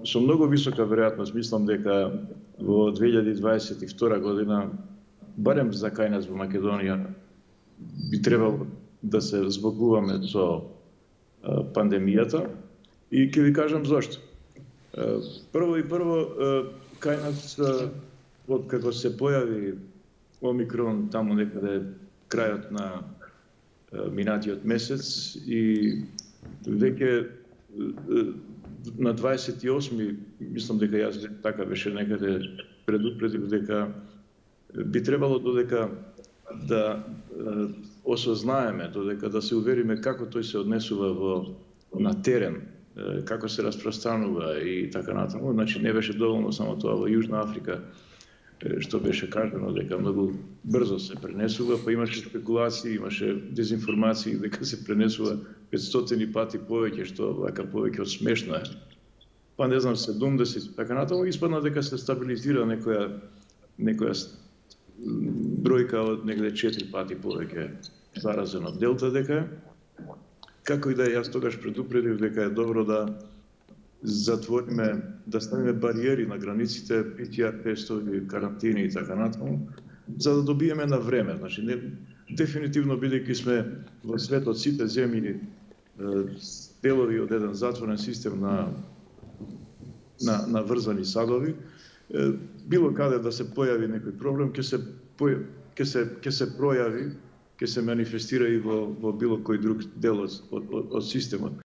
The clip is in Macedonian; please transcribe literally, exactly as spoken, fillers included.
Со многу висока веројатност мислам дека во две илјади дваесет и втора година, барем за кај нас во Македонија, би требало да се збогуваме со пандемијата и ќе ви кажам зошто. Прво и прво, кај нас, од како се појави Омикрон таму некаде крајот на минатиот месец и веќе на дваесет и осми, мислам дека јас така беше некаде предупредив дека би требало додека да осознаеме, додека да се увериме како тој се однесува во на терен, како се распространува и така натаму. Значи не беше доволно само тоа во Јужна Африка, што беше кажано дека многу брзо се пренесува, па имаше спекулации, имаше дезинформации дека се пренесува петстотини пати повеќе, што вака повеќе од смешно е. Па не знам, седумдесет, така натаму, испадна дека се стабилизира некоја некоја бројка од негде четири пати повеќе заразен од Делта дека е. Како и да е, јас тогаш предупредив дека е добро да затвориме, да ставиме бариери на границите, пи ти ар тестови, карантини и така натаму, за да добиеме на време. Значи, не, дефинитивно, бидејќи сме во светот сите земји делови од еден затворен систем на, на, на врзани садови, било каде да се појави некој проблем, ќе се, ќе се, ќе се пројави, ќе се манифестира и во, во било кој друг дел од, од, од системот.